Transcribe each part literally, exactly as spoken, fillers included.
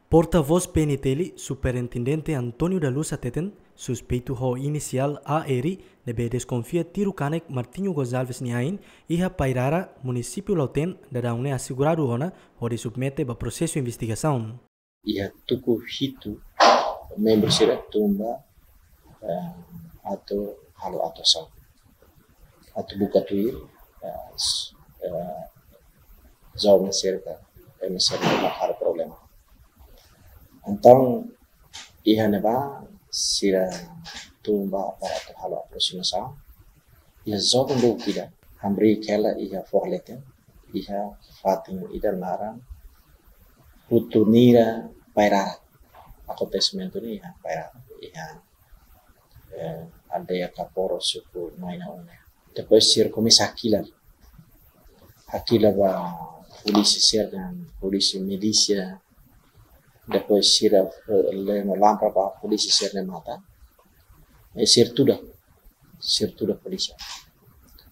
Portavós P N T L, Superintendente António da Luz hateten, suspeitu ho inisiál A R, ne'ebé deskonfia tiru kanek Martinho Gonçalves nia ain iha Pairara, munisípiu Lautém, daudaun ne'e aseguradu ona hodi submete ba prosesu investigasaun. Iha tuku hitu membru sira tun ba, eh, atu halo atuasaun. Atu buka tuir, eh, s-, eh, joven sira ka, ema sira ne'ebé halo problema. Entaun, iha ne'ebá sira tun ba para atu halo aprosimasaun. Iha joven dook ida, hamriik hela iha foho leten, iha fatin ida naran Putunira Pairara. Akontesimentu ne'e iha Pairara, iha, eh, aldeia Kaporo, suku Maina Une. Depois sira komesa hakilar. Hakilar ba polísia sira-nian, polísia milísia. Depois sira, eh, leno lampra ba polísia sira-nia matan. Eh, sira tuda. Sira tuda polísia.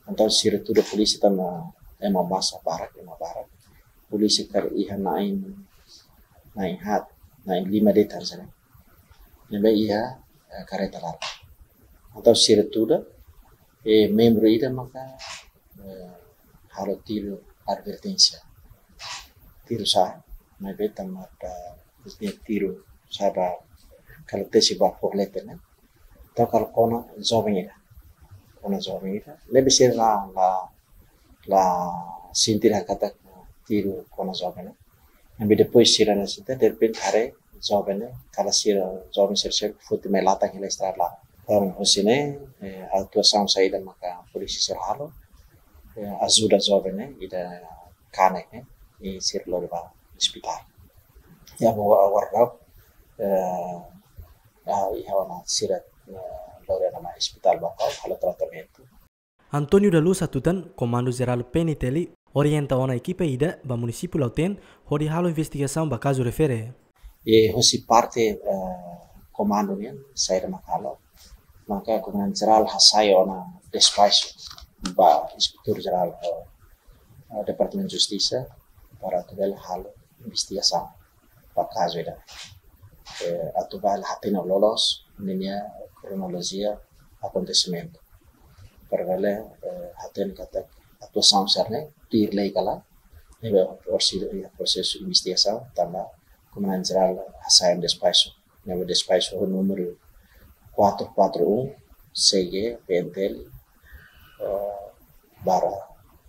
Entaun sira tuda polísia tanba ema masa barak, ema barak. Polísia karik iha na'in, na'in haat, na'in lima de'it hanesan ne'e. Ne'ebé iha, eh, kareta laran. Entaun sira tuda, eh, membru ida maka, eh, halo tiru adverténsia. Tiru sa'e, maibé tanba nia tiru sa'e ba kala tesi ba foho leten ne'e. Entaun kala kona joven ida. Kona joven ida. Ne'ebé sira la, la, la sente dehan katak tiru kona joven ne'e. Ne'ebé depois sira la sente, derrepente haree joven ne'e, kala sira joven sira, sira foti mai latan hela estrada laran. Entaun husi ne'e, eh, atuasaun saida maka polísia sira halo, eh, ajuda joven ne'e, ida kanek ne'e, i sira lori ba ospitál. Ya, agora, agora, eh, ah, iha ona sira, eh, lori ona mai ospitál Baucau, halo tratamentu. António da Luz hatutan, Komandu Jerál P N T L orienta ona ekipa ida ba munisípiu Lautém hodi halo investigasaun ba kazu refere. E husi parte, eh, komandu nian, saida mak halo, maka Komandante Jerál hasai ona despaxu ba Inspetór Jerál, eh, eh, Departamentu Justisa para atu bele halo investigasaun ba kazu ida. Eh, atu bele hatene loloos ninia kronolojia akontesimentu. Para bele, eh, hatene katak atuasaun sira-ne'e tuir lei ka lae, ne'ebé orsida iha prosesu investigasaun, tanba Komandante Jerál hasai ona despaxu. Ne'ebé despaxu ho númeru quatro quatro um C G P N T L, eh, barra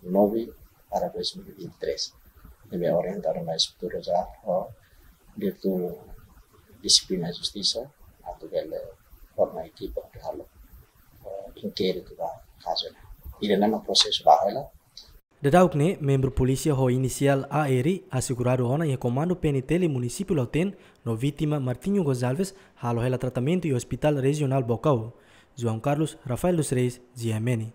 nove barra dois mil e vinte e três. Ne'ebé orienta ona ba Inspetór Jerál ho Diretór Dixiplina Justisa, atu bele forma ekipa hodi halo, eh, inkéritu ba kazu ne'e. Ida-ne'e mak prosesu ba hela. Daudauk ne'e, membru polísia ho inisiál A R aseguradu ona iha Komandu P N T L munisípiu Lautém, no vítima Martinho Gonçalves halo hela tratamentu iha Ospitál Rejionál Baucau. João Carlos, Rafael dos Reis, G M N.